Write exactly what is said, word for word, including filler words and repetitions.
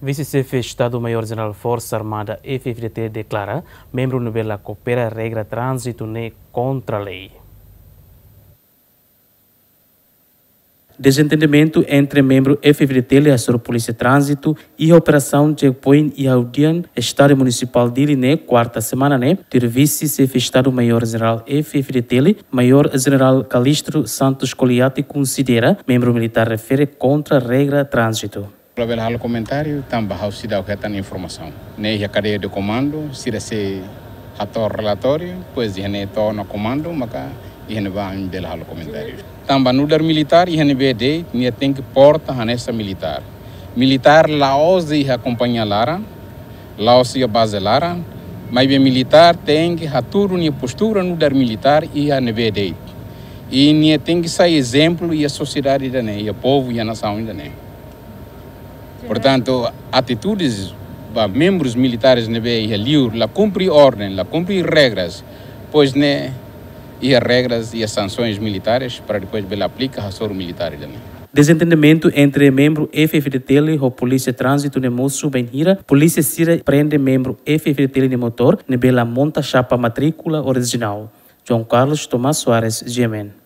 Vise-Xefe Estadu Maiór Jenerál Forsa Armada F-FDTL deklara membru ne'ebé la koopera regra tránzitu ne'e kontra lei. Dezentendimentu entre membru F-FDTL hasoru Polísia Tránzitu iha operasaun checkpoint iha Udian, Estádiu Munisipál Dili ne'e, kuarta semana ne'e, tuir Vise-Xefe Estadu Maiór Jenerál F-FDTL, Maiór Jenerál Calixto Santos Coliati konsidera membru militár refere kontra regra tránzitu. Labele halo komentáriu, tanba ha'u seidauk hetan informasaun. Ne'e iha kadeia de komandu, sira sei hato'o relatóriu, depois iha ne'e to'o ona komandu, maka iha ne'ebá ami bele halo komentáriu. Tanba nu'udar militár iha ne'ebé de'it, nia tenke porta hanesan militár. Militár la'ós iha kompañia laran, la'ós iha baze laran, maibé militár tenke hatudu nia postura nu'udar militár iha ne'ebé de'it. I nia tenke sai ezemplu iha sosiedade ida-ne'e, iha povu, iha nasaun ida-ne'e. Portantu, atitudes ba membrus militáres ne'ebé iha liur la kumpre orden, la kumpre regras, pois ne'e iha regras, iha sansoens militáres para depois bele aplika hasoru militár ida-ne'e. Dezentendimentu entre membru F-FDTL ho Polísia Tránzitu ne'e mosu bainhira polísia sira prende membru F-FDTL nia motór ne'ebé la monta xapa matríkula orijinál. João Carlos Tomás Soares, G M N.